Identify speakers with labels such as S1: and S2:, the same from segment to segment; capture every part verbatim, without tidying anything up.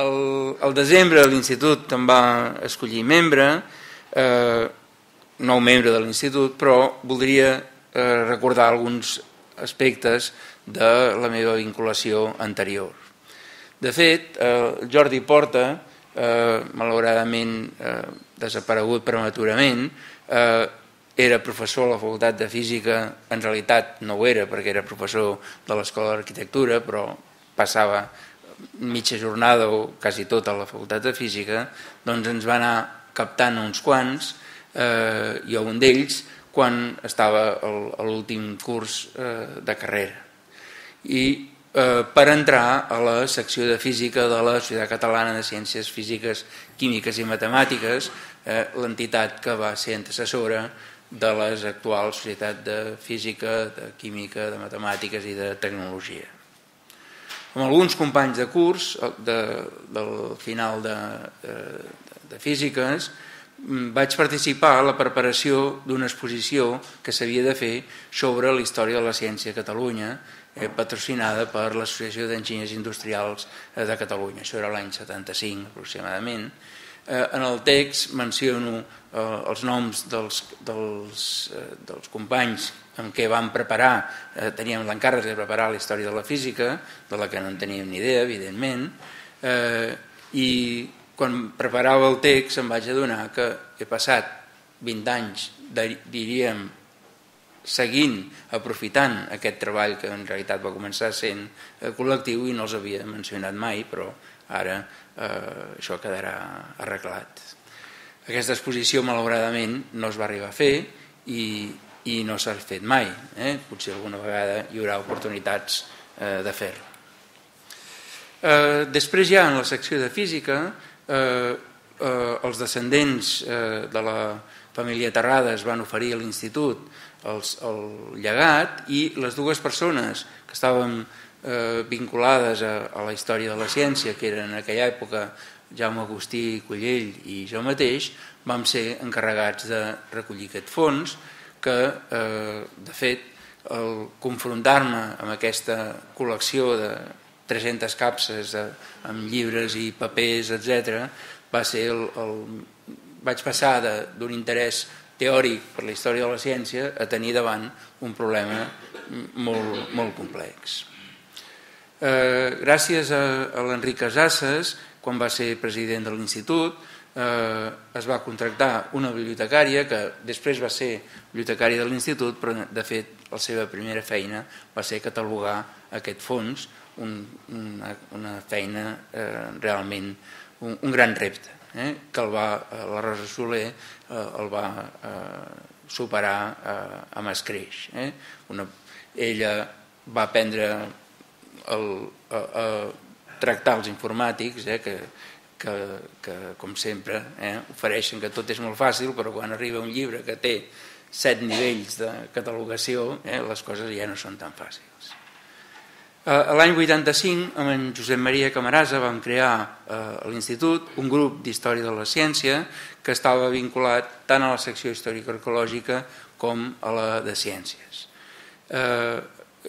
S1: al desembre l'Institut em va escollir membre, nou membre de l'Institut, però voldria recordar alguns aspectes de la meva vinculació anterior. De fet, Jordi Porta, malauradament desaparegut prematurament, era professor a la Facultat de Física, en realitat no ho era perquè era professor de l'Escola d'Arquitectura, però passava mitja jornada o quasi tota a la Facultat de Física, doncs ens va anar captant uns quants, jo un d'ells, quan estava a l'últim curs de carrera. I per entrar a la secció de Física de la Societat Catalana de Ciències Físiques, Químiques i Matemàtiques, l'entitat que va ser antecessora de les actuals Societat de Física, de Química, de Matemàtiques i de Tecnologia. Amb alguns companys de curs del final de Físiques vaig participar a la preparació d'una exposició que s'havia de fer sobre la història de la ciència a Catalunya, patrocinada per l'Associació d'Enginyers Industrials de Catalunya. Això era l'any setanta-cinc aproximadament. En el text menciono els noms dels companys amb què vam preparar, teníem l'encàrrec de preparar la història de la física, de la que no en teníem ni idea, evidentment, i quan preparava el text em vaig adonar que he passat vint anys, diríem, seguint, aprofitant aquest treball que en realitat va començar sent col·lectiu i no els havia mencionat mai, però ara això quedarà arreglat. Aquesta exposició malauradament no es va arribar a fer i no s'ha fet mai. Potser alguna vegada hi haurà oportunitats de fer-ho. Després ja en la secció de Física els descendents de la família Terrades van oferir a l'Institut el llegat i les dues persones que estaven vinculades a la història de la ciència, que eren en aquella època Jaume Agustí Collell i jo mateix, vam ser encarregats de recollir aquest fons que, de fet, al confrontar-me amb aquesta col·lecció de tres-centes capses amb llibres i papers, etcètera, va ser el... vaig passar d'un interès teòric per la història de la ciència a tenir davant un problema molt, molt complex. Gràcies a l'Enric Casasses, quan va ser president de l'Institut, es va contractar una bibliotecària que després va ser bibliotecària de l'Institut, però de fet la seva primera feina va ser catalogar aquest fons, una feina realment, un gran repte, que la Rosa Soler el va superar amb escreix. Ella va aprendre a tractar els informàtics, que com sempre ofereixen que tot és molt fàcil, però quan arriba un llibre que té set nivells de catalogació les coses ja no són tan fàcils. L'any vuitanta-cinc, amb en Josep Maria Camarasa, vam crear a l'Institut un grup d'Història de la Ciència que estava vinculat tant a la secció històrico-arqueològica com a la de Ciències.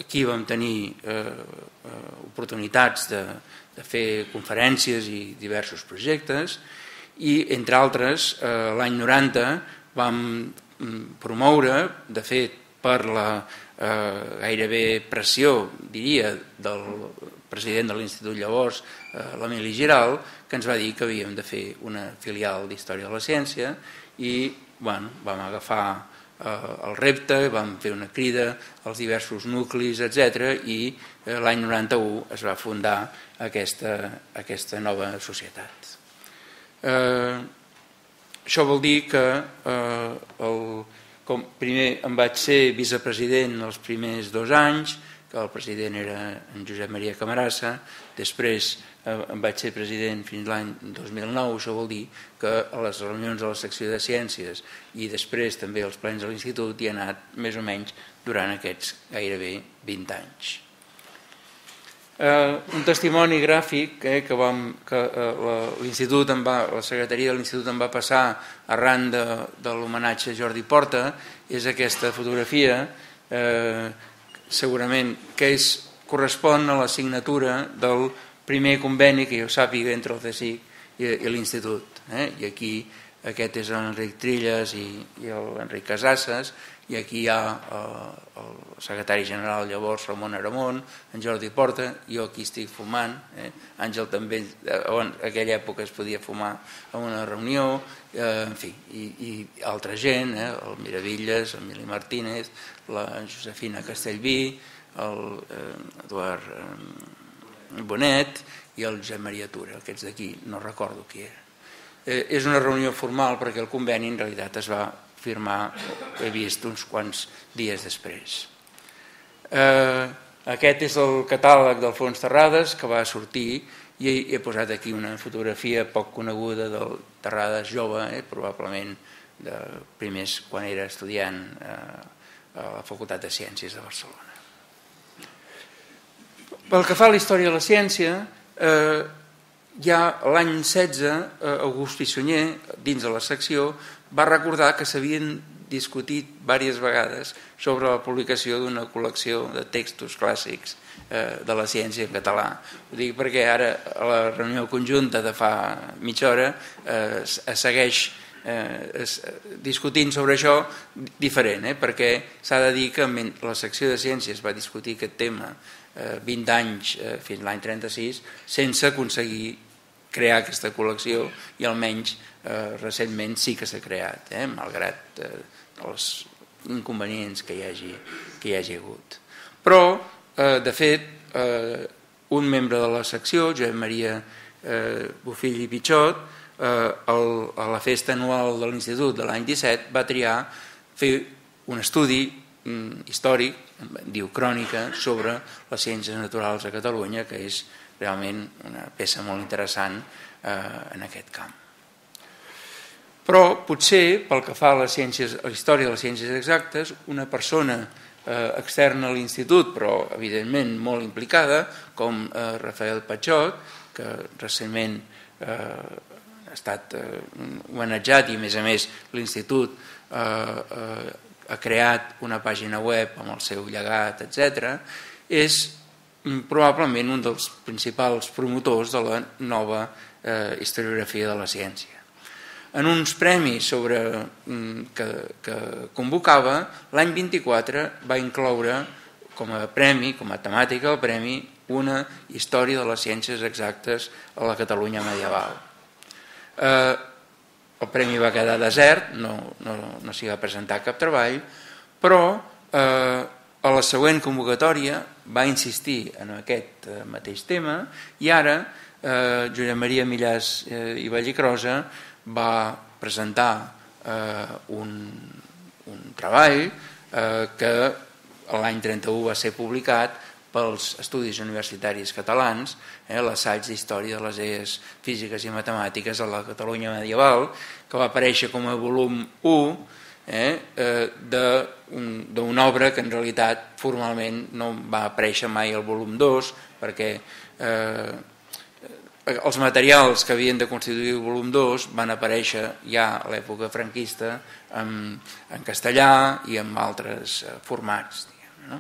S1: Aquí vam tenir oportunitats de fer conferències i diversos projectes i, entre altres, l'any noranta vam promoure, de fet, per la gairebé pressió, diria, del president de l'Institut llavors, l'Emili Giral, que ens va dir que havíem de fer una filial d'Història de la Ciència i vam agafar el repte, vam fer una crida als diversos nuclis, etcètera, i l'any noranta-u es va fundar aquesta nova societat. Això vol dir que primer em vaig ser vicepresident els primers dos anys, que el president era en Josep Maria Camarasa, després em vaig ser president fins l'any dos mil nou, això vol dir que a les reunions de la secció de Ciències i després també als plens de l'Institut hi ha anat més o menys durant aquests gairebé vint anys. Un testimoni gràfic que l'Institut, la secretaria de l'Institut em va passar arran de l'homenatge a Jordi Porta és aquesta fotografia, segurament que correspon a la signatura del primer conveni que jo sàpiga entre el C S I C i, i l'Institut. Eh? I aquí aquest és l'Enric Trilles i, i l'Enric Casasses, i aquí hi ha eh, el secretari general llavors, Ramon Aramon, en Jordi Porta, jo aquí estic fumant, eh? Àngel també, en aquella època es podia fumar en una reunió, eh, en fi, i, i altra gent, eh? El Miravilles, el Mili Martínez, la Josefina Castellví, el eh, Eduard eh, Bonet i el Josep Maria Tura, aquests d'aquí no recordo qui era. Eh, és una reunió formal perquè el conveni en realitat es va firmar, he vist, uns quants dies després. Eh, aquest és el catàleg d'Alfons Terrades que va sortir i he, he posat aquí una fotografia poc coneguda del Terrades jove, eh, probablement de primers quan era estudiant eh, a la Facultat de Ciències de Barcelona. Pel que fa a la història de la ciència, eh, ja l'any setze, August Pissunyer, dins de la secció, va recordar que s'havien discutit diverses vegades sobre la publicació d'una col·lecció de textos clàssics de la ciència en català. Ho dic perquè ara a la reunió conjunta de fa mitja hora es segueix discutint sobre això diferent, perquè s'ha de dir que la secció de ciències va discutir aquest tema vint anys fins l'any trenta-sis sense aconseguir crear aquesta col·lecció i almenys recentment sí que s'ha creat, malgrat els inconvenients que hi hagi, que hi hagi hagut. Però, de fet, un membre de la secció, Josep Maria Bofill i Pichot, a la festa anual de l'Institut de l'any disset va triar fer un estudi històric, diu crònica, sobre les ciències naturals a Catalunya, que és realment una peça molt interessant en aquest camp. Però potser, pel que fa a, les ciències, a la història de les ciències exactes, una persona externa a l'Institut, però evidentment molt implicada, com Rafael Pachot, que recentment ha estat homenatjat i a més a més l'Institut ha creat una pàgina web amb el seu llegat, etcètera, és probablement un dels principals promotors de la nova historiografia de la ciència. En uns premis sobre, que, que convocava, l'any vint-i-quatre va incloure com a premi, com a temàtica del premi, una història de les ciències exactes a la Catalunya medieval. Eh, el premi va quedar desert, no, no, no s'hi va presentar cap treball, però eh, a la següent convocatòria va insistir en aquest mateix tema i ara eh, Josep Maria Millàs eh, i Vallicrosa va presentar eh, un, un treball eh, que l'any trenta-u va ser publicat pels Estudis Universitaris Catalans, eh, l'assaig d'història de les idees físiques i matemàtiques a la Catalunya medieval, que va aparèixer com a volum u eh, eh, d'una obra que en realitat formalment no va aparèixer mai al volum dos, perquè eh, els materials que havien de constituir el volum dos van aparèixer ja a l'època franquista en, en castellà i en altres formats. Diguem, no?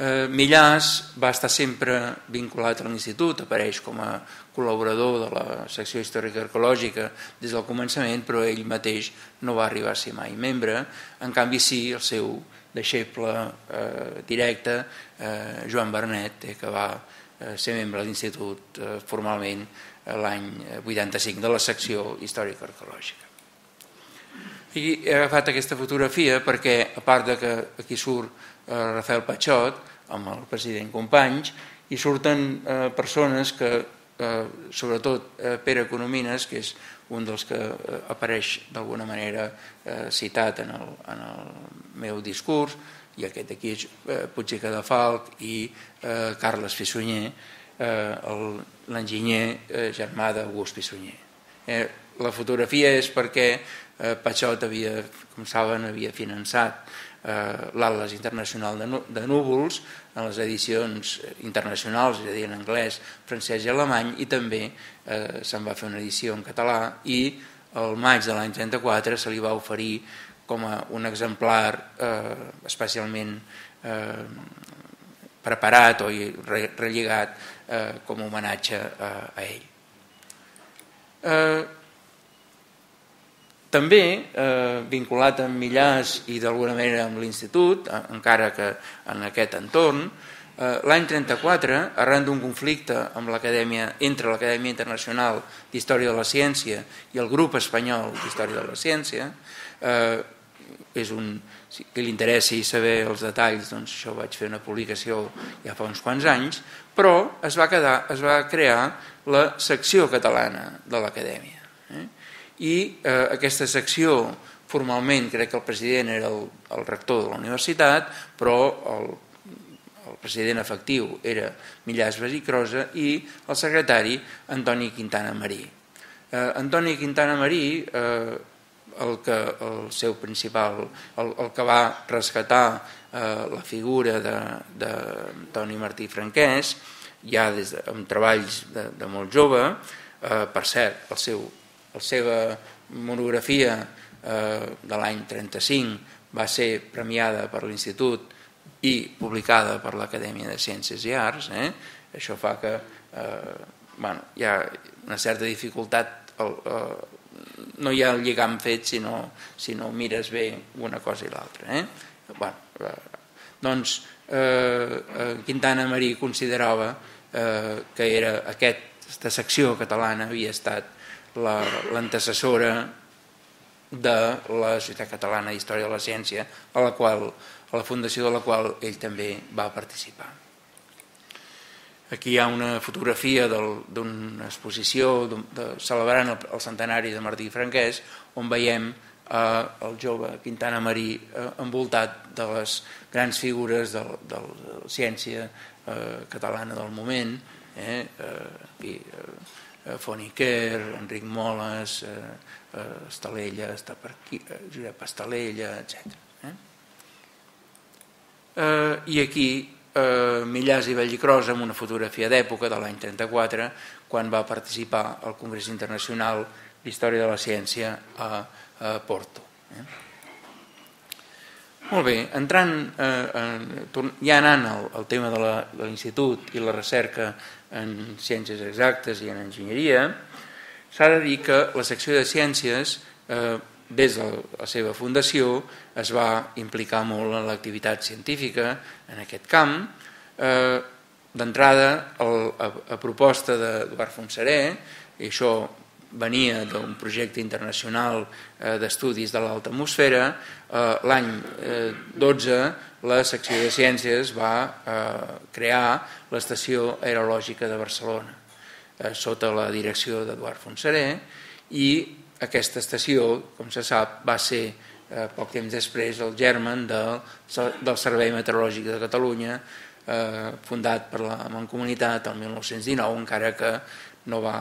S1: eh, Millàs va estar sempre vinculat a l'Institut, apareix com a col·laborador de la secció històrica arqueològica des del començament, però ell mateix no va arribar a ser mai membre. En canvi sí, el seu deixeble eh, directe, eh, Joan Bernet, eh, que va ser membre de l'Institut formalment l'any vuitanta-cinc de la secció històrica arqueològica. I he agafat aquesta fotografia perquè, a part de que aquí surt Rafael Pachot amb el president Companys, hi surten persones que, sobretot Pere Economines, que és un dels que apareix d'alguna manera citat en el, en el meu discurs, i aquest aquí és Puig i Cadafalch i eh, Carles Pissunyer, eh, l'enginyer germà d'August Pissunyer. Eh, la fotografia és perquè eh, Pachot havia, com saben, havia finançat eh, l'Atles Internacional de, de Núvols en les edicions internacionals, és a dir, en anglès, francès i alemany, i també eh, se'n va fer una edició en català i el maig de l'any trenta-quatre se li va oferir com a un exemplar eh, especialment eh, preparat o relligat com a homenatge a ell. També vinculat amb Millàs i d'alguna manera amb l'Institut, encara que en aquest entorn, l'any trenta-quatre, arran d'un conflicte amb l'Acadèmia, entre l'Acadèmia Internacional d'Història de la Ciència i el Grup Espanyol d'Història de la Ciència, és un, si li interessi saber els detalls, doncs això vaig fer una publicació ja fa uns quants anys, però es va, quedar, es va crear la secció catalana de l'Acadèmia. Eh? I eh, aquesta secció, formalment, crec que el president era el, el rector de la universitat, però el, el president efectiu era Millàs Basicrosa i el secretari Antoni Quintana Marí. Eh, Antoni Quintana Marí, eh, el, que, el seu principal, el, el que va rescatar eh, la figura d'Antoni Martí Franquès, ja des de, amb treballs de, de molt jove, eh, per cert, el seu, la seva monografia eh, de l'any trenta-cinc va ser premiada per l'Institut i publicada per l'Acadèmia de Ciències i Arts. Eh? Això fa que eh, bueno, hi ha una certa dificultat, el, eh, no hi ha el lligam fet si no, si no mires bé una cosa i l'altra. Eh? Bueno, eh, doncs eh, Quintana Marí considerava eh, que era aquesta secció catalana havia estat l'antecessora de la Societat Catalana d'Història de la Ciència, a la qual, a la fundació de la qual ell també va participar. Aquí hi ha una fotografia d'una exposició de, de, celebrant el, el centenari de Martí Franquès, on veiem eh, el jove Quintana Marí eh, envoltat de les grans figures de, de la ciència eh, catalana del moment, eh, eh, i, eh, Foniquer, Enric Moles, eh, eh, Estalella, està per aquí, eh, Josep Estalella, etcètera. Eh? Eh, I aquí eh, Millàs i Vallicrosa amb una fotografia d'època de l'any trenta-quatre, quan va participar al Congrés Internacional d'Història de la Ciència a, a Porto. Eh? Molt bé, entrant, eh, ja anant al, al tema de l'Institut i la recerca en ciències exactes i en enginyeria, s'ha de dir que la secció de ciències, eh, des de la seva fundació, es va implicar molt en l'activitat científica en aquest camp. Eh, D'entrada, a, a proposta d'Eduard Fontserè, i això venia d'un projecte internacional eh, d'estudis de l'alta atmosfera, eh, l'any eh, dotze la secció de ciències va eh, crear l'Estació Aerològica de Barcelona, eh, sota la direcció d'Eduard Fontserè, i aquesta estació, com se sap, va ser eh, poc temps després el germen del, del Servei Meteorològic de Catalunya, eh, fundat per la Mancomunitat el mil nou-cents dinou, encara que no va,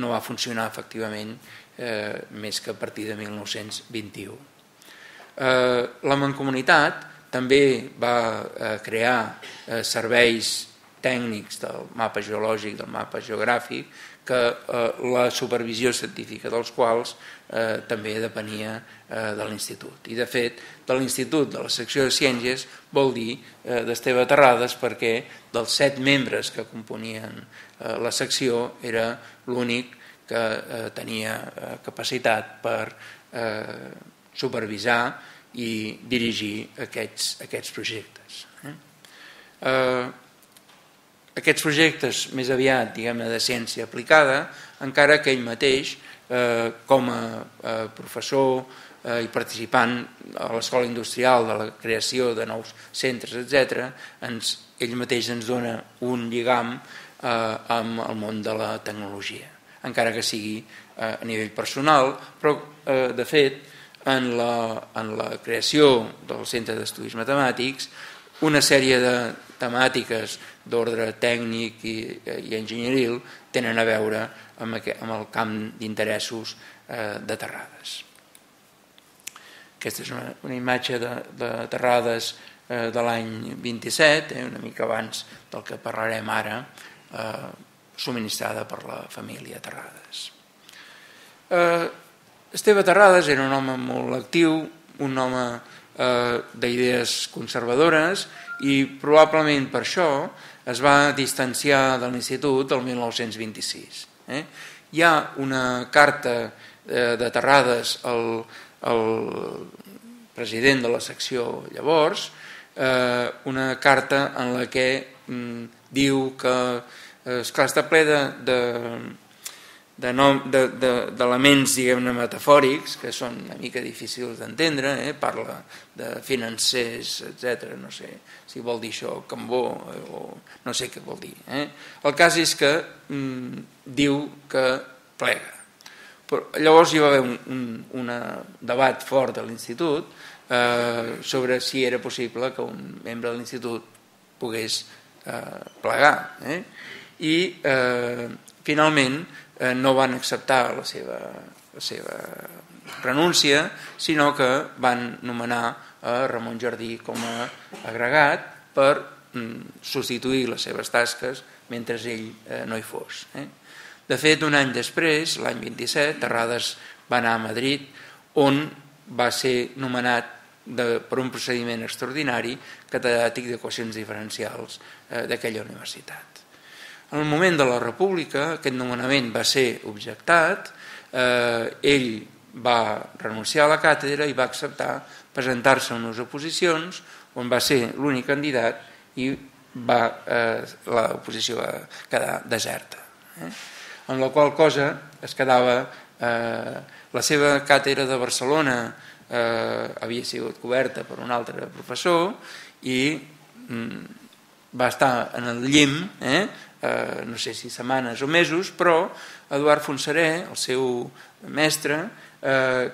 S1: no va funcionar efectivament eh, més que a partir de mil nou-cents vint-i-u. Eh, la Mancomunitat també va eh, crear eh, serveis tècnics del mapa geològic, del mapa geogràfic, que eh, la supervisió científica dels quals eh, també depenia eh, de l'Institut. I de fet, de l'Institut, de la secció de ciències, vol dir eh, d'Esteve Terrades, perquè dels set membres que componien eh, la secció era l'únic que eh, tenia eh, capacitat per eh, supervisar i dirigir aquests, aquests projectes. Eh? Eh, Aquests projectes més aviat, diguem-ne, de ciència aplicada, encara que ell mateix, eh, com a eh, professor eh, i participant a l'Escola Industrial de la creació de nous centres, etcètera, ens, ell mateix ens dona un lligam eh, amb el món de la tecnologia, encara que sigui eh, a nivell personal, però eh, de fet, en la, en la creació del Centre d'Estudis Matemàtics, una sèrie de temàtiques d'ordre tècnic i, i enginyeril tenen a veure amb, aquest, amb el camp d'interessos eh, de Terrades. Aquesta és una, una imatge de, de Terrades eh, de l'any vint-i-set, eh, una mica abans del que parlarem ara, eh, subministrada per la família Terrades. Eh, Esteve Terrades era un home molt actiu, un home d'idees conservadores i probablement per això es va distanciar de l'institut el mil nou-cents vint-i-sis. Hi ha una carta de Terrades al president de la secció llavors, una carta en la que diu que esclar, està ple d'elements diguem-ne metafòrics que són una mica difícils d'entendre, parla de financers, etcètera, no sé si vol dir això Cambó o no sé què vol dir. El cas és que diu que plega. Llavors hi va haver un debat fort a l'institut sobre si era possible que un membre de l'institut pogués plegar i finalment no van acceptar la seva renúncia, sinó que van nomenar a Ramon Jardí com a agregat per substituir les seves tasques mentre ell no hi fos. De fet, un any després, l'any vint-i-set, Terrades va anar a Madrid, on va ser nomenat per un procediment extraordinari catedràtic d'equacions diferencials d'aquella universitat. En el moment de la República, aquest nomenament va ser objectat, ell va renunciar a la càtedra i va acceptar presentar-se a unes oposicions on va ser l'únic candidat i l'oposició va quedar deserta. Amb la qual cosa es quedava la seva càtedra de Barcelona havia sigut coberta per un altre professor i va estar en el llim, no sé si setmanes o mesos, però Eduard Fontserè, el seu mestre,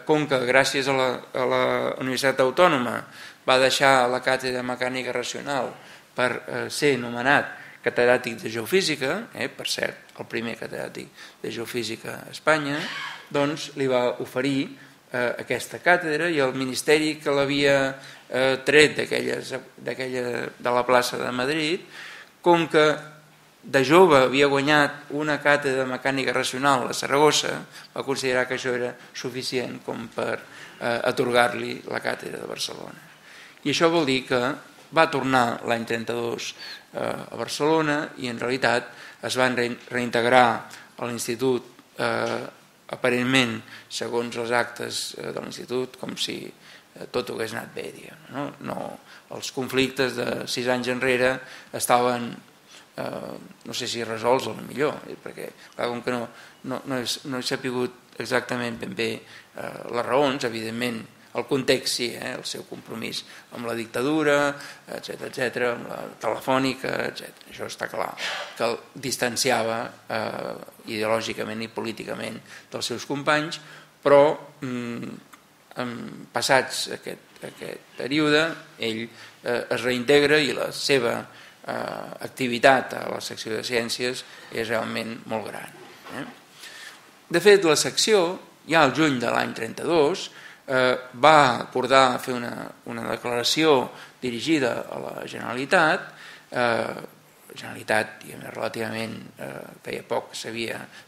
S1: com que gràcies a la Universitat Autònoma va deixar la càtedra de mecànica racional per ser nomenat catedràtic de geofísica, per cert, el primer catedràtic de geofísica a Espanya, doncs li va oferir aquesta càtedra i el ministeri que l'havia tret de la plaça de Madrid, com que de jove havia guanyat una càtedra de mecànica racional a Saragossa, va considerar que això era suficient com per atorgar-li la càtedra de Barcelona. I això vol dir que va tornar l'any trenta-dos a Barcelona i en realitat es van reintegrar a l'institut aparentment, segons els actes de l'institut, com si tot hagués anat bé. Els conflictes de sis anys enrere estaven, no sé si resolts o millor, perquè com que no he sapigut exactament ben bé les raons, evidentment, el context sí, el seu compromís amb la dictadura, etcètera, amb la telefònica, etcètera. Això està clar, que el distanciava ideològicament i políticament dels seus companys, però passats aquest període ell es reintegra i la seva activitat a la secció de ciències és realment molt gran. De fet, la secció, ja al juny de l'any trenta-dos, va acordar fer una declaració dirigida a la Generalitat, la Generalitat relativament feia poc que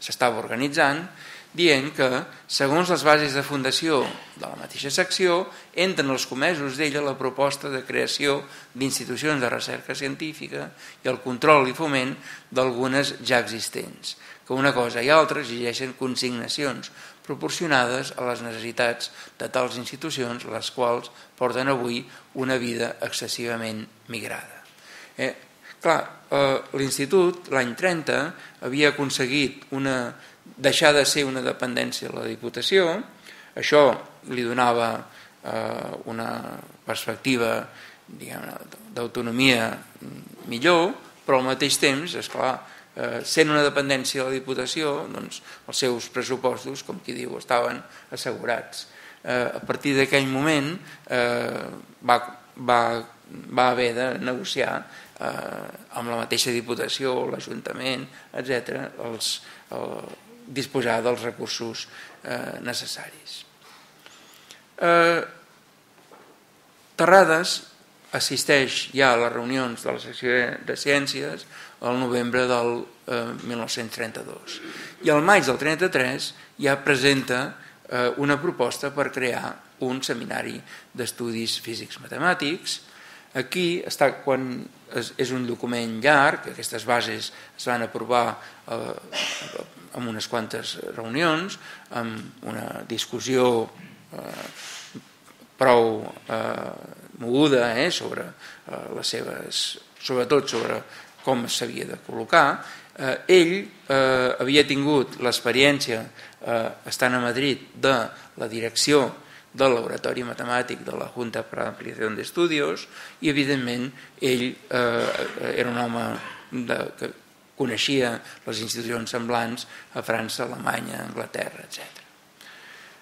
S1: s'estava organitzant, dient que, segons les bases de fundació de la mateixa secció, entren els comesos d'ella la proposta de creació d'institucions de recerca científica i el control i foment d'algunes ja existents, que una cosa i altra exigeixen consignacions proporcionades a les necessitats de tals institucions, les quals porten avui una vida excessivament migrada. Clar, l'institut, l'any trenta, havia aconseguit deixar de ser una dependència de la Diputació, això li donava una perspectiva d'autonomia millor, però al mateix temps, esclar, sent una dependència de la Diputació, doncs els seus pressupostos, com qui diu, estaven assegurats. A partir d'aquell moment va haver de negociar amb la mateixa Diputació, l'Ajuntament, etcètera, disposar dels recursos necessaris. Terrades assisteix ja a les reunions de la secció de ciències al novembre del mil nou-cents trenta-dos i al maig del trenta-tres ja presenta una proposta per crear un seminari d'estudis físics matemàtics. Aquí està, quan és un document llarg, aquestes bases es van aprovar eh, en unes quantes reunions, amb una discussió eh, prou eh, moguda eh, sobre eh, les seves, sobretot sobre com s'havia de col·locar. Eh, ell eh, havia tingut l'experiència, eh, estant a Madrid, de la direcció del laboratori matemàtic de la Junta para la Ampliación de Estudios i, evidentment, ell eh, era un home de, que coneixia les institucions semblants a França, Alemanya, Anglaterra, etcètera.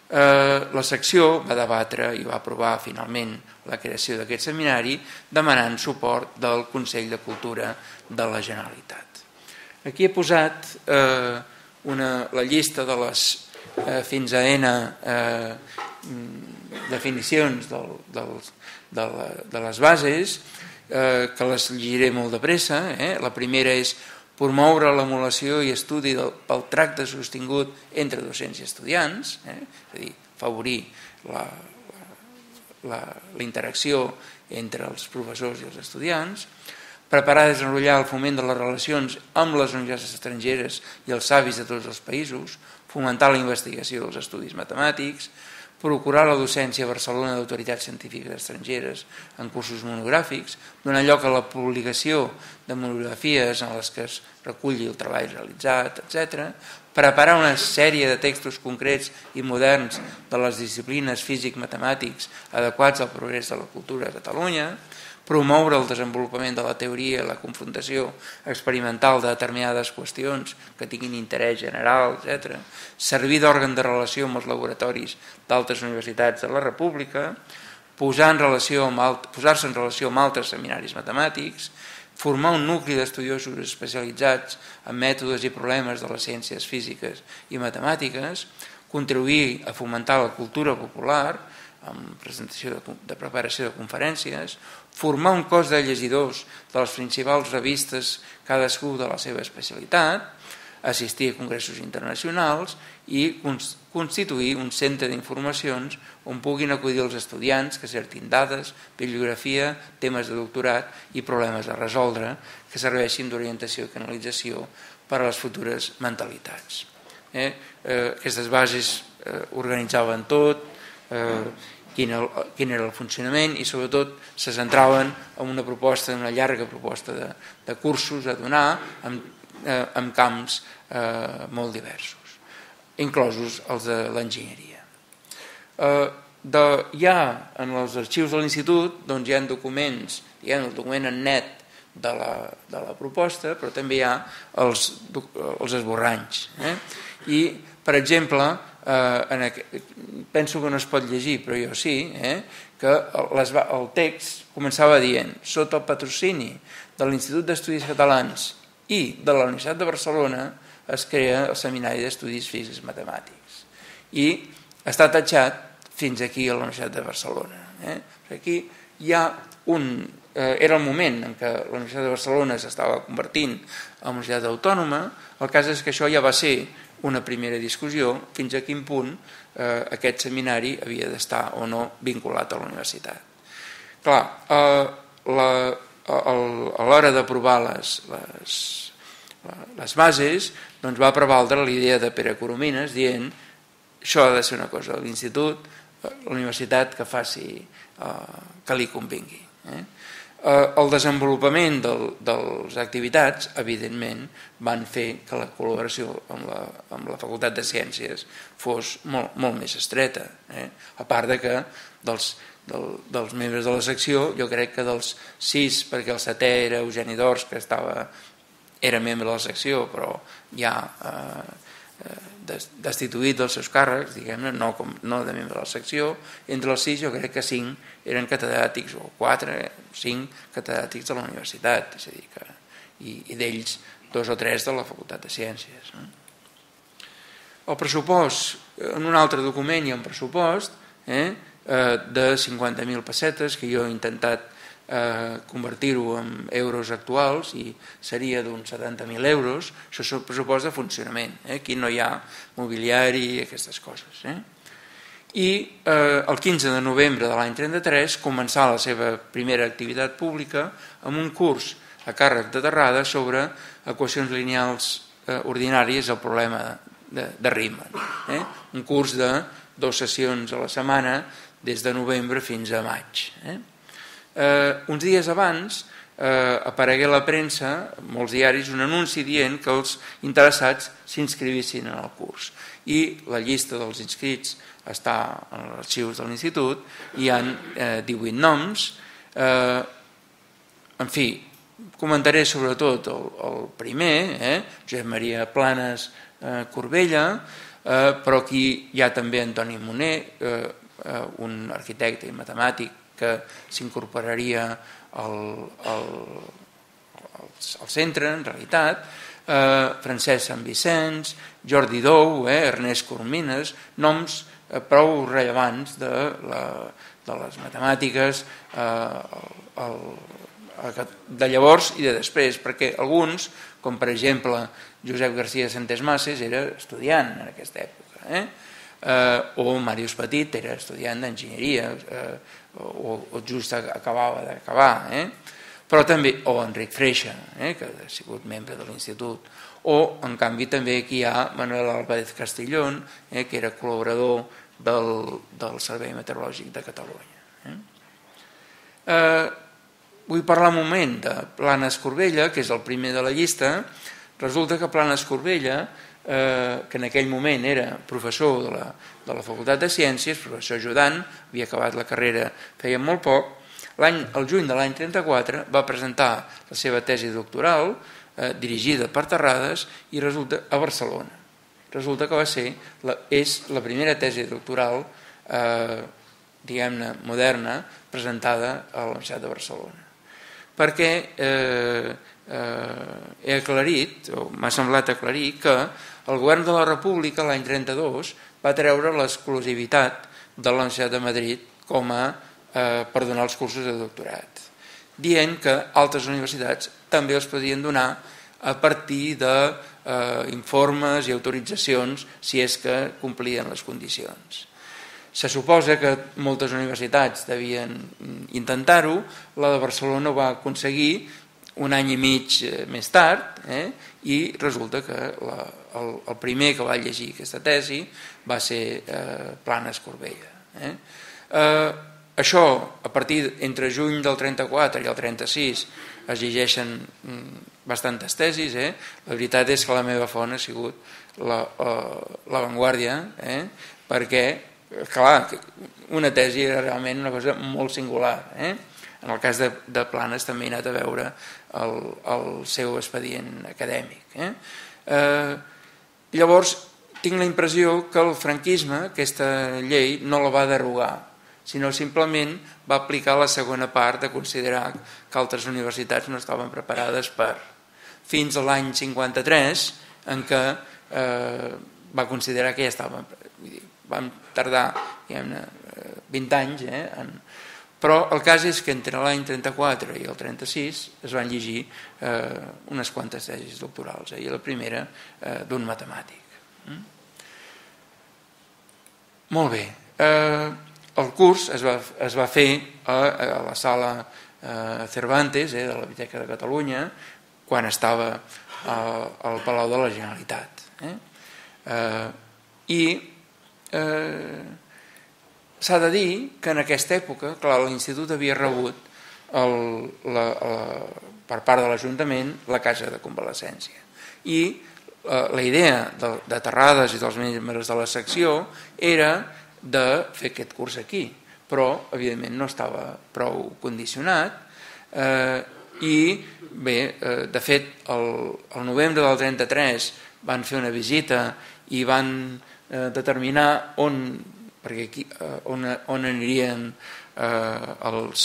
S1: Eh, la secció va debatre i va aprovar finalment la creació d'aquest seminari demanant suport del Consell de Cultura de la Generalitat. Aquí he posat eh, una, la llista de les eh, fins a N eh, definicions del, del, de, la, de les bases, eh, que les llegiré molt de pressa. Eh? La primera és promoure l'emulació i estudi del, pel tracte sostingut entre docents i estudiants, eh? És a dir, favorir la, la, la interacció entre els professors i els estudiants, preparar i desenvolupar el foment de les relacions amb les universitats estrangeres i els savis de tots els països, fomentar la investigació dels estudis matemàtics, procurar la docència a Barcelona d'autoritats científiques estrangeres en cursos monogràfics, donar lloc a la publicació de monografies en les que es reculli el treball realitzat, etcètera, preparar una sèrie de textos concrets i moderns de les disciplines físic-matemàtics adequats al progrés de la cultura a Catalunya, promoure el desenvolupament de la teoria i la confrontació experimental de determinades qüestions que tinguin interès general, etcètera, servir d'òrgan de relació amb els laboratoris d'altres universitats de la República, posar en relació amb alt, posar-se en relació amb altres seminaris matemàtics, formar un nucli d'estudiosos especialitzats en mètodes i problemes de les ciències físiques i matemàtiques, contribuir a fomentar la cultura popular, amb presentació de, de preparació de conferències, formar un cos de llegidors de les principals revistes, cadascú de la seva especialitat, assistir a congressos internacionals i constituir un centre d'informacions on puguin acudir els estudiants que cerquin dades, bibliografia, temes de doctorat i problemes a resoldre que serveixin d'orientació i canalització per a les futures mentalitats. Eh? Eh, aquestes bases eh, organitzaven tot, eh, Quin, el, quin era el funcionament i sobretot se centraven en una proposta, una llarga proposta de, de cursos a donar en, eh, en camps eh, molt diversos, inclosos els de l'enginyeria. Eh, de, ja en els arxius de l'institut doncs, hi ha documents, hi ha el document en net de la, de la proposta, però també hi ha els, els esborranys. Eh? I, per exemple, Eh, en aquest, penso que no es pot llegir, però jo sí, eh, que les, el text començava dient sota el patrocini de l'Institut d'Estudis Catalans i de la Universitat de Barcelona es crea el Seminari d'Estudis Físics Matemàtics i està tatxat fins aquí a la Universitat de Barcelona. Eh. Aquí hi ha un... Eh, era el moment en què la Universitat de Barcelona s'estava convertint en universitat autònoma. El cas és que això ja va ser una primera discussió fins a quin punt eh, aquest seminari havia d'estar o no vinculat a la universitat. Clar, eh, la, el, a l'hora d'aprovar les, les, les bases doncs va prevaldre la idea de Pere Coromines dient això ha de ser una cosa de l'institut, la universitat que faci eh, que li convingui. Eh? El desenvolupament del, de les activitats, evidentment, van fer que la col·laboració amb la, amb la Facultat de Ciències fos molt, molt més estreta. Eh? A part de que dels, del, dels membres de la secció, jo crec que dels sis, perquè el setè era Eugeni Dors, que estava, era membre de la secció, però ja eh, destituït dels seus càrrecs, diguem-ne, no, no de membre de la secció, entre els sis jo crec que cinc eren catedràtics, o quatre, cinc catedràtics de la universitat, és a dir, que, i, i d'ells dos o tres de la Facultat de Ciències. No? El pressupost, en un altre document hi ha un pressupost eh, de cinquanta mil pessetes que jo he intentat eh, convertir-ho en euros actuals i seria d'uns setanta mil euros. Això és el pressupost de funcionament. Eh? Aquí no hi ha mobiliari i aquestes coses. Eh? i el quinze de novembre de l'any trenta-tres començà la seva primera activitat pública amb un curs a càrrec de Terrada sobre equacions lineals ordinàries al problema de Riemann. Un curs de dues sessions a la setmana des de novembre fins a maig. Uns dies abans aparegué a la premsa, molts diaris, un anunci dient que els interessats s'inscrivissin en el curs. I la llista dels inscrits està en els arxius de l'Institut, hi ha divuit noms. En fi, comentaré sobretot el primer, Josep Maria Planes Corbella, però aquí hi ha també Antoni Moner, un arquitecte i matemàtic que s'incorporaria al centre, en realitat, Francesc Sant Vicenç, Jordi Dou, Ernest Coromines, noms prou rellevants de les matemàtiques de llavors i de després, perquè alguns, com per exemple Josep García Santés Mases, era estudiant en aquesta època, o Màrius Petit era estudiant d'enginyeria, o just acabava d'acabar, però també, o Enric Freixa, que ha sigut membre de l'Institut, o en canvi també aquí hi ha Manuel Álvarez Castellón, que era col·laborador del Servei Meteorològic de Catalunya. Vull parlar un moment de Planes Corbella, que és el primer de la llista. Resulta que Planes Corbella, que en aquell moment era professor de la Facultat de Ciències, professor ajudant, havia acabat la carrera feia molt poc, el juny de l'any trenta-quatre va presentar la seva tesi doctoral, dirigida per Terrades, i resulta a Barcelona. Resulta que va ser, és la primera tesi doctoral, diguem-ne, moderna, presentada a la Universitat de Barcelona. Perquè he aclarit, o m'ha semblat aclarir, que el govern de la República l'any trenta-dos va treure l'exclusivitat de la Universitat de Madrid com a per donar els cursos de doctorat, dient que altres universitats també els podien donar a partir d'informes i autoritzacions si és que complien les condicions. Se suposa que moltes universitats devien intentar-ho, la de Barcelona ho va aconseguir un any i mig més tard, i resulta que el primer que va llegir aquesta tesi va ser Planes Corbella. Això, a partir entre juny del trenta-quatre i el trenta-sis, es llegeixen bastantes tesis. La veritat és que la meva font ha sigut La Vanguardia, perquè, clar, una tesi era realment una cosa molt singular. En el cas de Planes també he anat a veure el seu expedient acadèmic. Llavors, tinc la impressió que el franquisme, aquesta llei, no la va derogar, sinó simplement va aplicar la segona part de considerar que altres universitats no estaven preparades per, fins a l'any cinquanta-tres, en què va considerar que ja estaven, van tardar vint anys, però el cas és que entre l'any trenta-quatre i el trenta-sis es van llegir unes quantes tesis doctorals, i la primera d'un matemàtic. Molt bé. El curs es va fer a la sala Cervantes de la Biblioteca de Catalunya, quan estava al Palau de la Generalitat. I s'ha de dir que en aquesta època, clar, l'Institut havia rebut per part de l'Ajuntament la casa de convalescència. I la idea de Terrades i dels membres de la secció era de fer aquest curs aquí, però evidentment no estava prou condicionat, i bé, de fet el novembre del trenta-tres van fer una visita i van determinar on on anirien les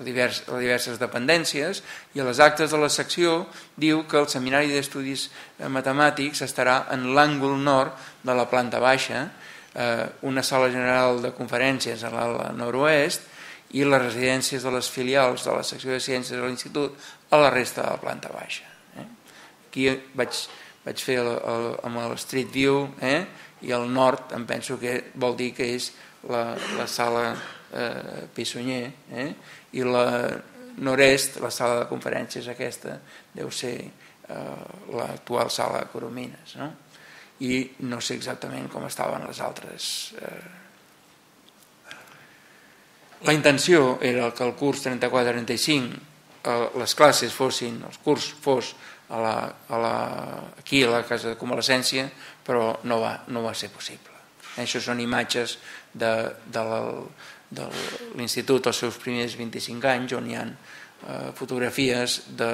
S1: diverses dependències, i a les actes de la secció diu que el Seminari d'Estudis Matemàtics estarà en l'àngol nord de la planta baixa, una sala general de conferències a l'ala nord-oest i les residències de les filials de la secció de ciències de l'Institut a la resta de la planta baixa. Aquí vaig vaig fer amb el Street View, i al nord em penso que vol dir que és la sala Pissunyer, i la nord-est, la sala de conferències aquesta, deu ser l'actual sala Coromines, i no sé exactament com estaven les altres. La intenció era que el curs trenta-quatre trenta-cinc les classes fossin, el curs fos aquí a la casa de convalescència, però no va ser possible. Això són imatges de l'institut als seus primers vint-i-cinc anys, on hi ha fotografies de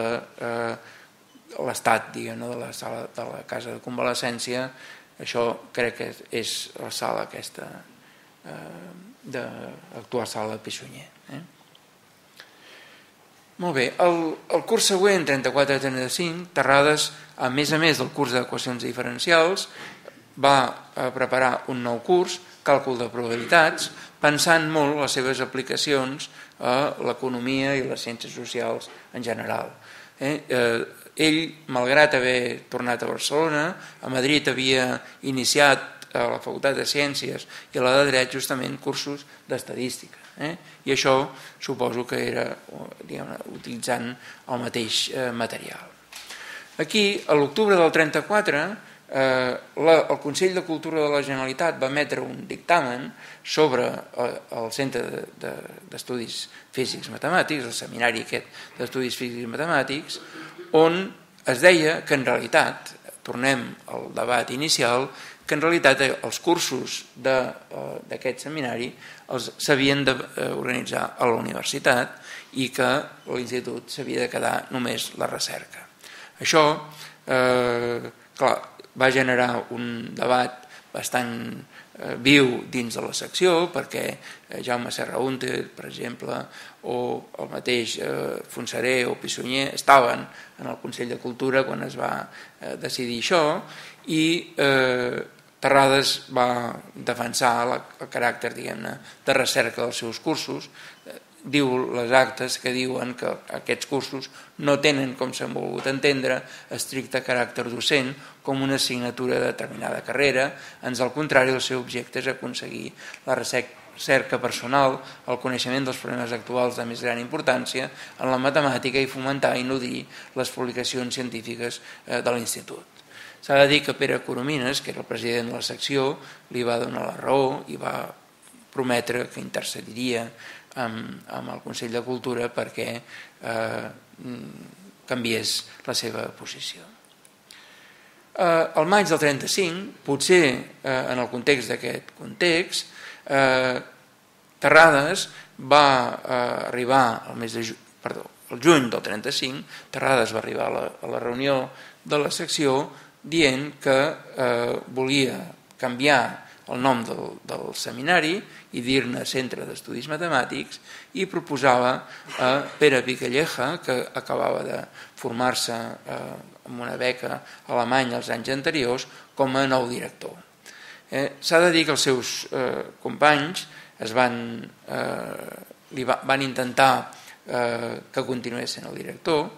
S1: l'estat de la casa de convalescència. Això crec que és la sala aquesta, l'actual sala de Pissunyer. Molt bé, el curs següent, trenta-quatre trenta-cinc, Terrades, a més a més del curs d'equacions diferencials, va preparar un nou curs, càlcul de probabilitats, pensant molt les seves aplicacions a l'economia i les ciències socials en general. Ell, malgrat haver tornat a Barcelona, a Madrid havia iniciat a la Facultat de Ciències i a la de Dret justament cursos d'estadística. I això suposo que era utilitzant el mateix material. Aquí, a l'octubre del trenta-quatre, el Consell de Cultura de la Generalitat va emetre un dictamen sobre el Centre d'Estudis Físics Matemàtics, el seminari aquest d'Estudis Físics Matemàtics, on es deia que en realitat, tornem al debat inicial, que en realitat els cursos d'aquest seminari s'havien d'organitzar a la universitat i que l'institut s'havia de quedar només la recerca. Això, clar, va generar un debat bastant viu dins de la secció, perquè Jaume Serrahunter, per exemple, o el mateix Fontserè o Pissunyer estaven en el Consell de Cultura quan es va decidir això, i Terrades va defensar el caràcter, diguem-ne, de recerca dels seus cursos. Diu les actes que diuen que aquests cursos no tenen, com s'han volgut entendre, estricte caràcter docent com una assignatura de determinada carrera. Ans al contrari, el seu objecte és aconseguir la recerca personal, el coneixement dels problemes actuals de més gran importància en la matemàtica i fomentar i nodrir les publicacions científiques de l'institut. S'ha de dir que Pere Coromines, que era el president de la secció, li va donar la raó i va prometre que intercediria amb el Consell de Cultura perquè canviés la seva posició. Al maig del trenta-cinc, potser en el context d'aquest context, Terrades va arribar al mes de juny, perdó, el juny del trenta-cinc, Terrades va arribar a la reunió de la secció dient que volia canviar el nom del seminari i dir-ne Centre d'Estudis Matemàtics, i proposava a Pere Picalleja, que acabava de formar-se amb una beca alemanya els anys anteriors, com a nou director. S'ha de dir que els seus companys van intentar que continués sent el director,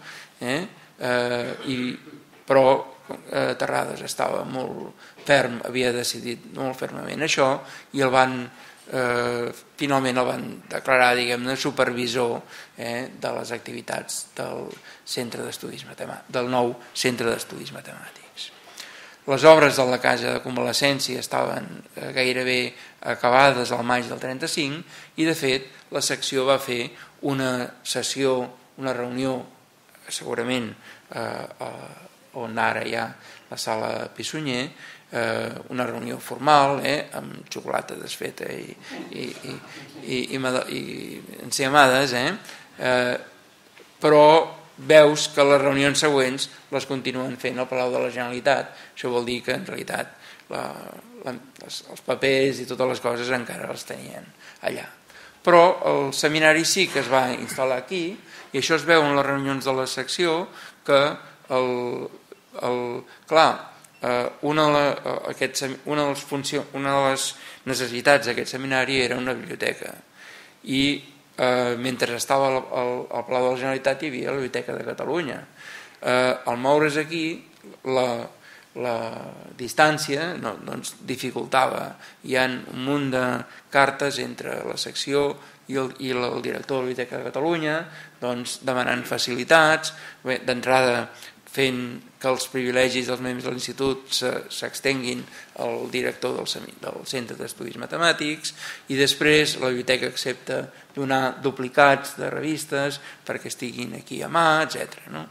S1: però Terrades estava molt ferm, havia decidit molt fermament això, i el van finalment el van declarar, diguem-ne, supervisor de les activitats del centre d'estudis matemàtics, del nou Centre d'Estudis Matemàtics. Les obres de la casa de convalescència estaven gairebé acabades al maig del trenta-cinc, i de fet la secció va fer una sessió, una reunió, segurament on ara hi ha la sala Pissunyer, una reunió formal amb xocolata desfeta i enciamades, però veus que les reunions següents les continuen fent al Palau de la Generalitat. Això vol dir que en realitat els papers i totes les coses encara els tenien allà. Però el seminari sí que es va instal·lar aquí, i això es veu en les reunions de la secció, que clar, una de les necessitats d'aquest seminari era una biblioteca, i mentre estava al Palau de la Generalitat hi havia la Biblioteca de Catalunya. Al moure's aquí, la distància doncs dificultava. Hi ha un munt de cartes entre la secció i el, i el director de la Biblioteca de Catalunya doncs, demanant facilitats, d'entrada fent que els privilegis dels membres de l'institut s'extenguin al director del, del Centre d'Estudis Matemàtics, i després la biblioteca accepta donar duplicats de revistes perquè estiguin aquí a mà, etcètera. No?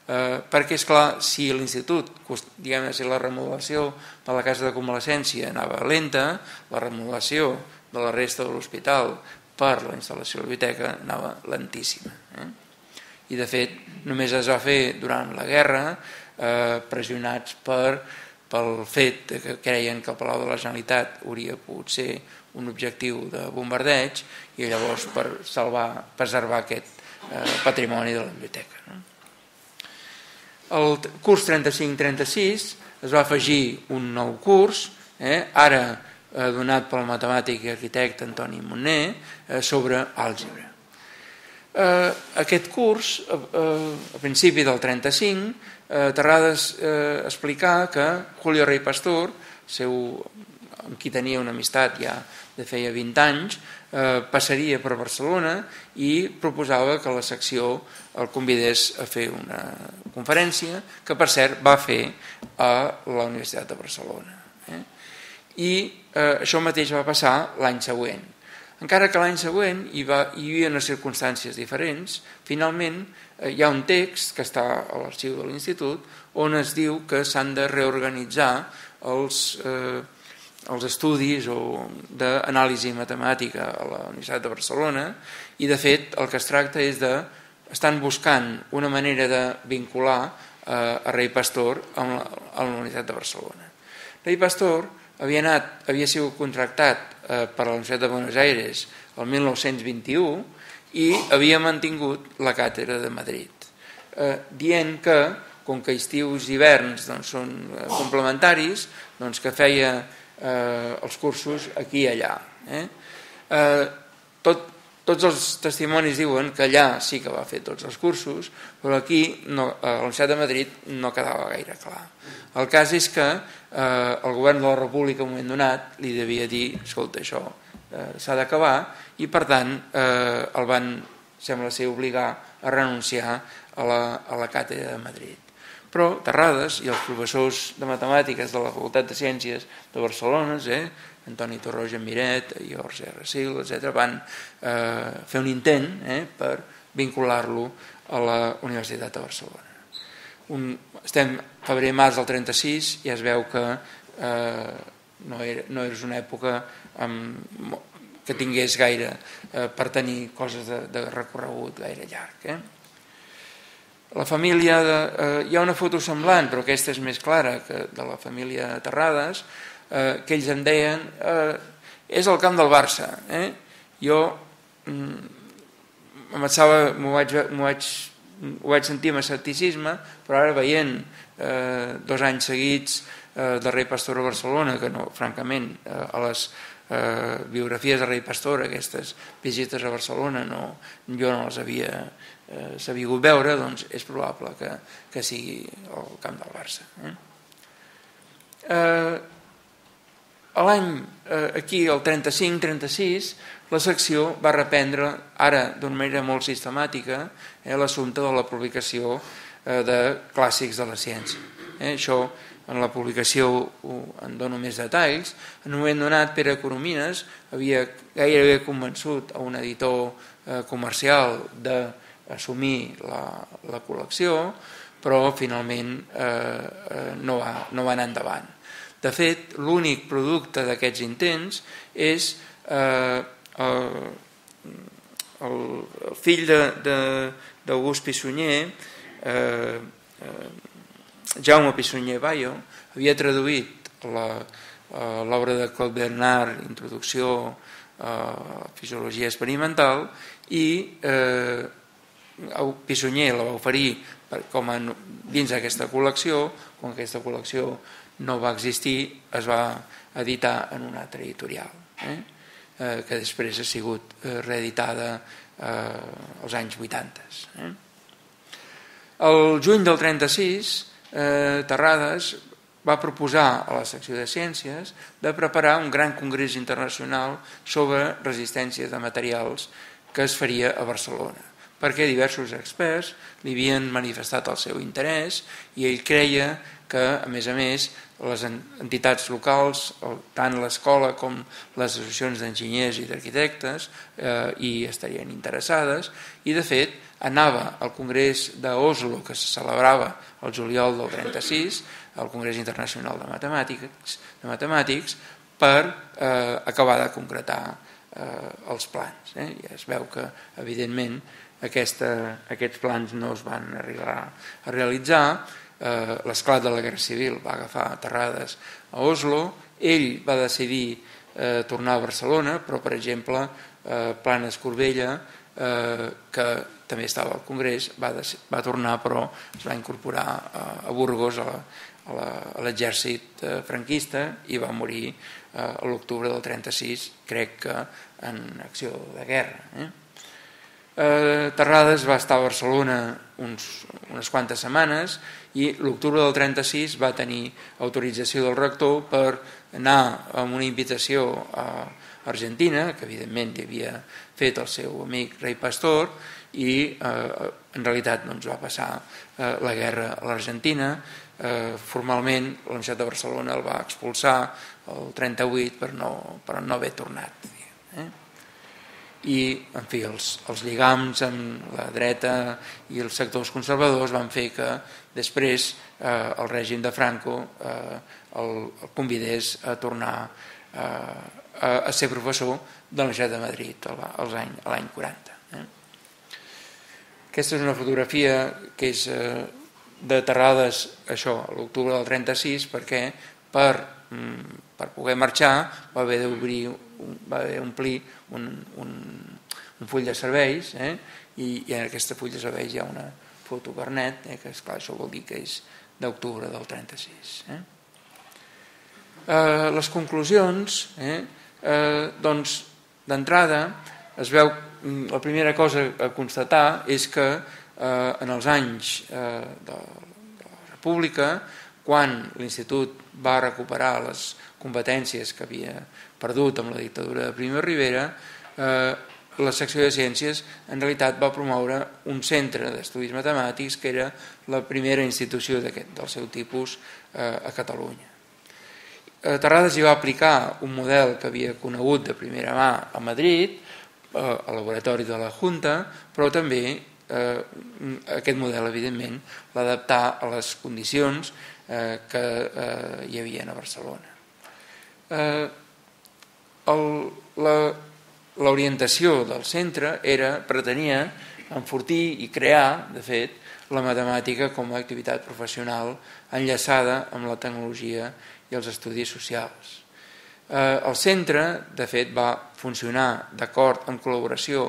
S1: Eh, perquè, esclar, si l'institut, diguem-ne, si la remodelació de la casa de convalescència anava lenta, la remodelació de la resta de l'hospital per la instal·lació de la biblioteca anava lentíssima. Eh? I, de fet, només es va fer durant la guerra, eh, pressionats per, pel fet que creien que el Palau de la Generalitat hauria pogut ser un objectiu de bombardeig, i llavors per salvar, preservar aquest eh, patrimoni de la biblioteca. No? El curs trenta-cinc trenta-sis es va afegir un nou curs, eh, ara eh, donat pel matemàtic i arquitecte Antoni Monner, eh, sobre àlgebra. Eh, aquest curs, eh, a principi del trenta-cinc, eh, Terrades eh, explicà que Julio Rey Pastor, seu, amb qui tenia una amistat ja de feia vint anys, eh, passaria per Barcelona i proposava que la secció el convidés a fer una conferència, que per cert va fer a la Universitat de Barcelona. Eh? I eh, això mateix va passar l'any següent. Encara que l'any següent hi, va, hi havia unes circumstàncies diferents, finalment eh, hi ha un text que està a l'arxiu de l'Institut on es diu que s'han de reorganitzar els, eh, els estudis d'anàlisi matemàtica a la Universitat de Barcelona, i de fet el que es tracta és de estan buscant una manera de vincular eh, a Rey Pastor a la, a la Universitat de Barcelona. Rey Pastor havia, anat, havia sigut contractat eh, per la Universitat de Buenos Aires el mil nou-cents vint-i-u i havia mantingut la càtedra de Madrid, eh, dient que, com que estius i hiverns doncs, són eh, complementaris, doncs que feia eh, els cursos aquí i allà. Eh? Eh, tot Tots els testimonis diuen que allà sí que va fer tots els cursos, però aquí no, a la Universitat de Madrid no quedava gaire clar. El cas és que eh, el govern de la República en un moment donat li devia dir, escolta, això eh, s'ha d'acabar, i per tant eh, el van, sembla ser, obligar a renunciar a la, a la càtedra de Madrid. Però Terrades i els professors de matemàtiques de la Facultat de Ciències de Barcelona, eh, Antoni Torroja Miret, George R. Sil, etcètera, van eh, fer un intent eh, per vincular-lo a la Universitat de Barcelona. Un, estem febrer-març del trenta-sis i es veu que eh, no, era, no és una època amb, que tingués gaire eh, per tenir coses de, de recorregut gaire llarg. Eh? La família de, eh, hi ha una foto semblant, però aquesta és més clara que de la família Terrades, eh, que ells em deien eh, és el camp del Barça. Eh? Jo mm, m'ho vaig, vaig, vaig sentir amb escepticisme, però ara veient eh, dos anys seguits eh, de Rey Pastor a Barcelona, que no, francament, eh, a les eh, biografies de Rey Pastor, aquestes visites a Barcelona, no, jo no les havia eh, sabut veure, doncs és probable que, que sigui el camp del Barça. Eh? Eh, L'any, eh, aquí, el trenta-cinc trenta-sis, la secció va reprendre, ara d'una manera molt sistemàtica, eh, l'assumpte de la publicació eh, de clàssics de la ciència. Eh, això, en la publicació en dono més detalls. En un moment donat, Pere Coromines havia gairebé convençut a un editor eh, comercial d'assumir la, la col·lecció, però finalment eh, eh, no, va, no va anar endavant. De fet, l'únic producte d'aquests intents és eh, el, el, el fill d'August Pissunyer, eh, eh, Jaume Pissunyer Bayo, havia traduït l'obra de Claude Bernard, Introducció a la Fisiologia Experimental, i eh, Pissunyer la va oferir com a, dins d'aquesta col·lecció. Com aquesta col·lecció no va existir, es va editar en una altra editorial, eh? Eh, que després ha sigut eh, reeditada eh, als anys vuitanta. Eh? El juny del trenta-sis, eh, Terrades va proposar a la secció de Ciències de preparar un gran congrés internacional sobre resistència de materials que es faria a Barcelona, perquè diversos experts li havien manifestat el seu interès i ell creia que, a més a més, les entitats locals, tant l'escola com les associacions d'enginyers i d'arquitectes, eh, hi estarien interessades, i de fet anava al Congrés d'Oslo, que se celebrava el juliol del trenta-sis, al Congrés Internacional de Matemàtics, de Matemàtics per eh, acabar de concretar eh, els plans. Eh? I es veu que, evidentment, aquesta, aquests plans no es van arribar a realitzar. Eh, l'esclat de la Guerra Civil va agafar Terrades a Oslo, ell va decidir eh, tornar a Barcelona, però per exemple eh, Planes Corbella, eh, que també estava al Congrés, va, va tornar però es va incorporar a, a Burgos a, la, a l'exèrcit eh, franquista i va morir eh, a l'octubre del trenta-sis, crec que en acció de guerra. Eh? Eh, Terrades va estar a Barcelona uns, unes quantes setmanes i l'octubre del trenta-sis va tenir autorització del rector per anar amb una invitació a Argentina, que evidentment hi havia fet el seu amic Rei Pastor, i eh, en realitat doncs, va passar eh, la guerra a l'Argentina. Eh, formalment la Universitat de Barcelona el va expulsar el trenta-vuit per no, per no haver tornat. Eh? I, en fi, els, els lligams amb la dreta i els sectors conservadors van fer que després eh, el règim de Franco eh, el, el convidés a tornar eh, a, a ser professor de la Universitat de Madrid als any, a l'any quaranta. Eh? Aquesta és una fotografia que és eh, de Terrades, això, a l'octubre del trenta-sis, perquè per, per poder marxar va haver d'obrir, va haver d'omplir un, un, un full de serveis, eh? I, i en aquesta full de serveis hi ha una fotocarnet, eh? Que esclar, això vol dir que és d'octubre del trenta-sis. Eh? Eh, les conclusions, eh? Eh, doncs, d'entrada, es veu, la primera cosa a constatar és que eh, en els anys eh, de, de la República, quan l'Institut va recuperar les competències que havia perdut amb la dictadura de Primo de Rivera, eh, la secció de Ciències en realitat va promoure un centre d'estudis matemàtics que era la primera institució del seu tipus eh, a Catalunya. Eh, Terrades hi va aplicar un model que havia conegut de primera mà a Madrid, eh, al laboratori de la Junta, però també eh, aquest model, evidentment, l'adaptar a les condicions eh, que eh, hi havia a Barcelona. Eh, el, la L'orientació del centre era, pretenia enfortir i crear, de fet, la matemàtica com a activitat professional enllaçada amb la tecnologia i els estudis socials. Eh, el centre, de fet, va funcionar d'acord en col·laboració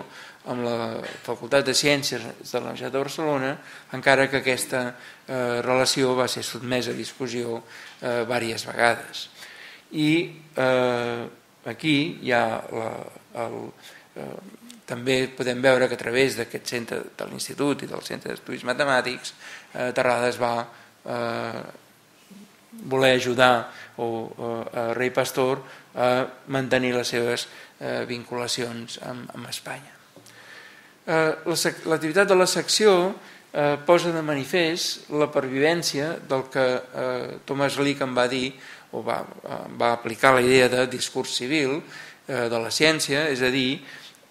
S1: amb la Facultat de Ciències de la Universitat de Barcelona, encara que aquesta eh, relació va ser sotmesa a discussió eh, diverses vegades. I eh, aquí hi ha la El, eh, també podem veure que a través d'aquest centre de l'Institut i del Centre d'Estudis Matemàtics eh, Terrades va eh, voler ajudar o, eh, a Rei Pastor a mantenir les seves eh, vinculacions amb, amb Espanya. Eh, L'activitat de la secció eh, posa de manifest la pervivència del que eh, Thomas Lick en va dir o va, va aplicar la idea de discurs civil de la ciència, és a dir,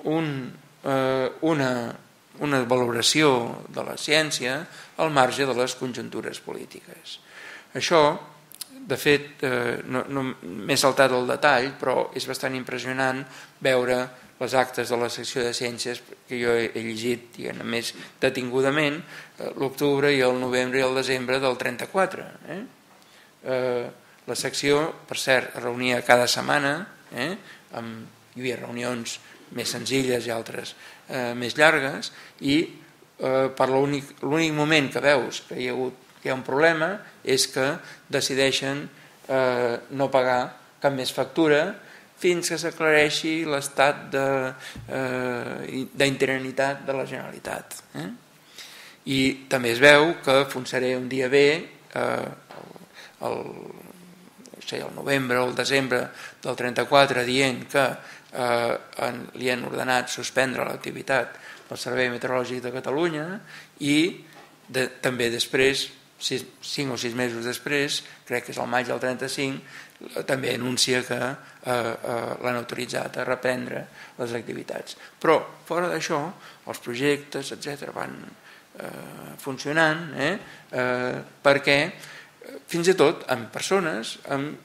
S1: un, eh, una, una valoració de la ciència al marge de les conjuntures polítiques. Això, de fet, eh, no, no m'he saltat el detall, però és bastant impressionant veure les actes de la secció de ciències que jo he llegit, diguem, més detingudament, eh, l'octubre i el novembre i el desembre del trenta-quatre. Eh? Eh, la secció, per cert, es reunia cada setmana, eh? Amb, hi havia reunions més senzilles i altres eh, més llargues, i eh, per l'únic l'únic moment que veus que hi ha, hagut, que hi ha un problema és que decideixen eh, no pagar cap més factura fins que s'aclareixi l'estat d'interinitat de, eh, de la Generalitat. Eh? I també es veu que Fontserè un dia ve eh, el, no sé, el novembre o el desembre del trenta-quatre dient que eh, li han ordenat suspendre l'activitat del Servei Meteorològic de Catalunya i de, també després, sis, cinc o sis mesos després, crec que és el maig del trenta-cinc, també anuncia que eh, eh, l'han autoritzat a reprendre les activitats. Però fora d'això, els projectes, etcètera, van eh, funcionant, eh, eh, perquè fins i tot amb persones amb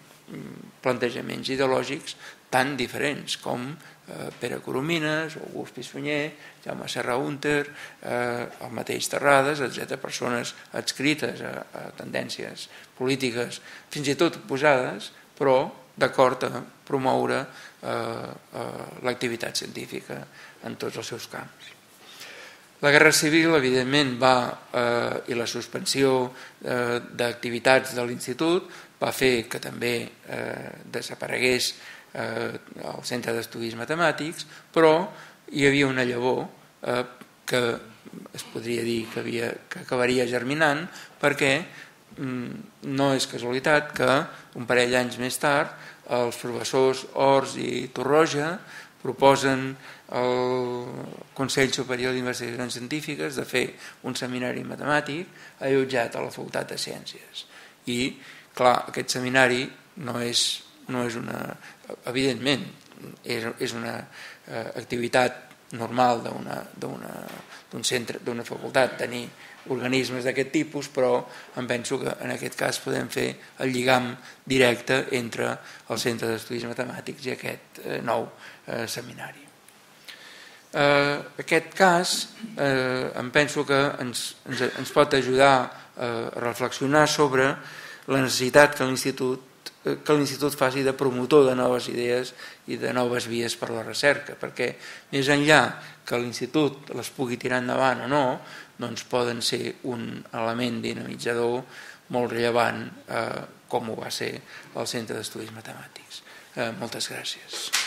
S1: plantejaments ideològics tan diferents com eh, Pere Coromines, August Pissunyer, Jaume Serra Hunter, eh, el mateix Terrades, etcètera, persones adscrites a, a tendències polítiques fins i tot oposades, però d'acord a promoure eh, eh, l'activitat científica en tots els seus camps. La Guerra Civil, evidentment, va, eh, i la suspensió eh, d'activitats de l'Institut va fer que també eh, desaparegués eh, el Centre d'Estudis Matemàtics, però hi havia una llavor eh, que es podria dir que, havia, que acabaria germinant, perquè mm, no és casualitat que un parell d'anys més tard els professors Ors i Torroja proposen al Consell Superior d'Investigacions Científiques de fer un seminari matemàtic allotjat a la Facultat de Ciències. I, clar, aquest seminari no és, no és una... Evidentment, és, és una eh, activitat normal d'un centre, d'una facultat, tenir organismes d'aquest tipus, però em penso que en aquest cas podem fer el lligam directe entre el Centre d'Estudis Matemàtics i aquest eh, nou eh, seminari. Eh, aquest cas eh, em penso que ens, ens, ens pot ajudar eh, a reflexionar sobre la necessitat que l'Institut que l'Institut faci de promotor de noves idees i de noves vies per a la recerca, perquè més enllà que l'Institut les pugui tirar endavant o no, doncs poden ser un element dinamitzador molt rellevant eh, com ho va ser el Centre d'Estudis Matemàtics. Eh, moltes gràcies.